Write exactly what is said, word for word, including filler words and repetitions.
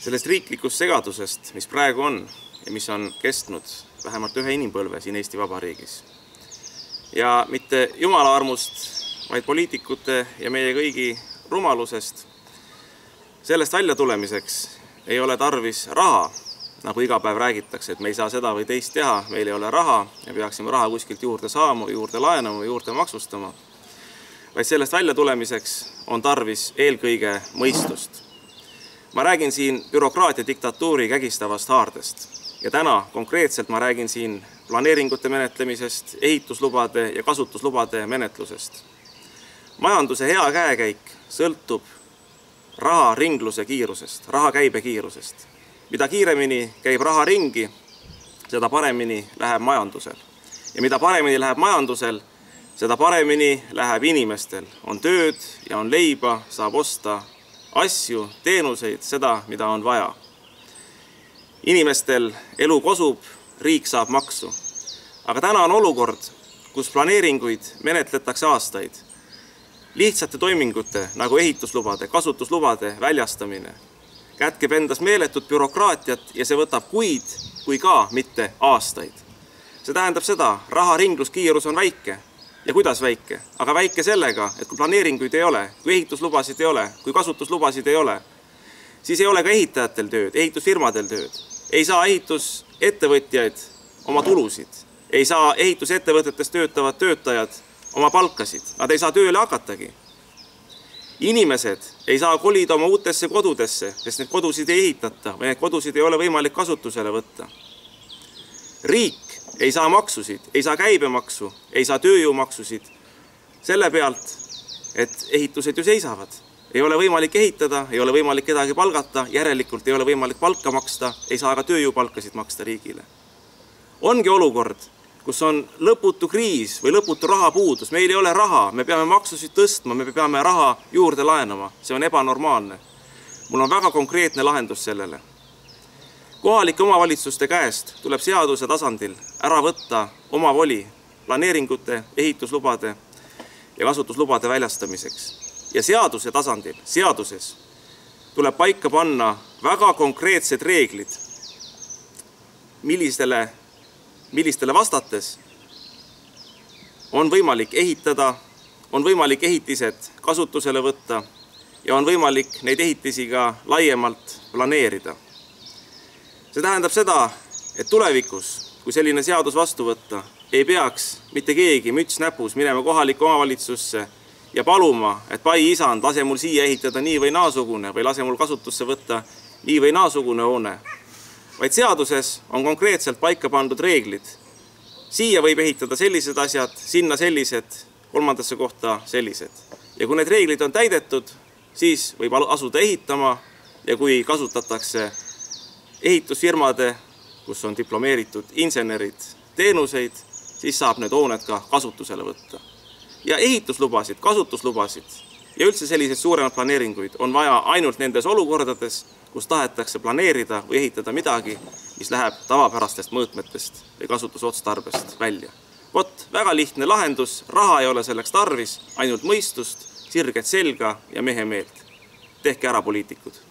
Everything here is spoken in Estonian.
Sellest riiklikust segadusest, mis praegu on ja mis on kestnud vähemalt ühe inimpõlve siin Eesti Vabariigis. Ja mitte Jumala armust, vaid poliitikute ja meie kõigi rumalusest. Sellest välja tulemiseks ei ole tarvis raha, nagu iga päev räägitakse, et me ei saa seda või teist teha, meil ei ole raha ja peaksime raha kuskilt juurde saama, juurde laenama, juurde maksustama. Vaid sellest välja tulemiseks on tarvis eelkõige mõistust. Ma räägin siin bürokraatia diktatuuri kägistavast haardest ja täna konkreetselt ma räägin siin planeeringute menetlemisest, ehituslubade ja kasutuslubade menetlusest. Majanduse hea käekäik sõltub raha ringluse kiirusest, raha käibe kiirusest. Mida kiiremini käib raha ringi, seda paremini läheb majandusel. Ja mida paremini läheb majandusel, seda paremini läheb inimestel. On tööd ja on leiba, saab osta asju, teenuseid, seda, mida on vaja. Inimestel elu kosub, riik saab maksu. Aga täna on olukord, kus planeeringuid menetletakse aastaid. Lihtsate toimingute, nagu ehituslubade, kasutuslubade väljastamine, kätkeb endas meeletut bürokraatiat ja see võtab kuid, kui ka mitte aastaid. See tähendab seda, raha ringluskiirus on väike. Ja kuidas väike? Aga väike sellega, et kui planeeringuid ei ole, kui ehituslubasid ei ole, kui kasutuslubasid ei ole, siis ei ole ka ehitajatel tööd, ehitusfirmadel tööd. Ei saa ehitusettevõtjaid oma tulusid, ei saa ehitusettevõtetes töötavad töötajad oma palkasid, nad ei saa tööle hakatagi. Inimesed ei saa kolida oma uutesse kodudesse, sest need kodusid ei ehitata või need kodusid ei ole võimalik kasutusele võtta. Riik ei saa maksusid, ei saa käibemaksu, ei saa tööjõumaksusid selle pealt, et ehitused ju seisavad. Ei ole võimalik ehitada, ei ole võimalik kedagi palgata, järelikult ei ole võimalik palka maksta, ei saa ka tööjõupalkasid maksta riigile. Ongi olukord, kus on lõputu kriis või lõputu rahapuudus. Meil ei ole raha, me peame maksusid tõstma, me peame raha juurde laenama. See on ebanormaalne. Mul on väga konkreetne lahendus sellele. Kohalike omavalitsuste käest tuleb seaduse tasandil ära võtta oma voli planeeringute, ehituslubade ja kasutuslubade väljastamiseks. Ja seaduse tasandil, seaduses, tuleb paika panna väga konkreetsed reeglid, millistele, millistele vastates on võimalik ehitada, on võimalik ehitised kasutusele võtta ja on võimalik neid ehitisi ka laiemalt planeerida. See tähendab seda, et tulevikus, kui selline seadus vastu võtta, ei peaks mitte keegi müts näpus minema kohalikku omavalitsusse ja paluma, et pai isand, lase mul siia ehitada nii või naasugune või lase mul kasutusse võtta nii või naasugune hoone. Vaid seaduses on konkreetselt paika pandud reeglid. Siia võib ehitada sellised asjad, sinna sellised, kolmandasse kohta sellised. Ja kui need reeglid on täidetud, siis võib asuda ehitama ja kui kasutatakse ehitusfirmade, kus on diplomeeritud insenerid, teenuseid, siis saab need hooned ka kasutusele võtta. Ja ehituslubasid, kasutuslubasid ja üldse selliseid suuremad planeeringuid on vaja ainult nendes olukordades, kus tahetakse planeerida või ehitada midagi, mis läheb tavapärastest mõõtmetest või kasutusotstarbest välja. Vot, väga lihtne lahendus, raha ei ole selleks tarvis, ainult mõistust, sirget selga ja mehe meelt. Tehke ära, poliitikud.